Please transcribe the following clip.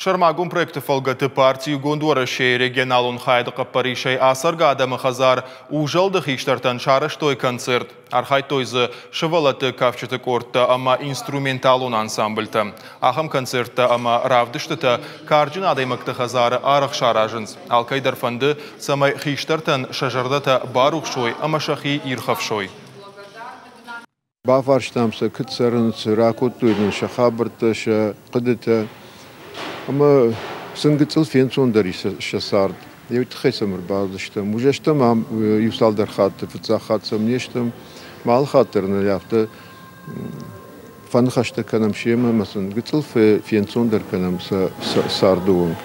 Сӕрмагонд проекты фӕлгӕты парти Иугонд Уӕрӕсейы регионалон хайады хъӕппӕрисӕй ацӕргӕ адӕмы хӕдзар Узӕлд-ы хистӕртӕн сарӕзтой концерт. Архайдтой дзы сывӕллӕтты кафджыты къордтӕ ӕмӕ инструменталон ансамбльтӕ. Ахӕм концерттӕ ӕмӕ равдыстытӕ карджын адӕймӕгты хӕдзары арӕх саразынц. Алкӕй дӕр фӕнды, цӕмӕй хистӕртӕн сӕ зӕрдӕтӕ барухс уой ӕмӕ сӕхи ирхӕфсой. Бафарстам сӕ, куыд цӕрынц, ракодтой нын сӕ хабӕрттӕ, сӕ хъуыдытӕ. Ӕмӕ сын гыццыл фенцондӕр ис сӕ цард. Уый тыххӕй сӕм ӕрбацыдыстӕм. Уызӕстӕм ам иу цалдӕр хатты, фыццаг хатт сӕм не стӕм. Алы хатт дӕр нын афтӕ фӕныхӕстӕ кӕнӕм семӕ ӕмӕ сын гыццыл фенцондӕр кӕнӕм сӕ царды онг.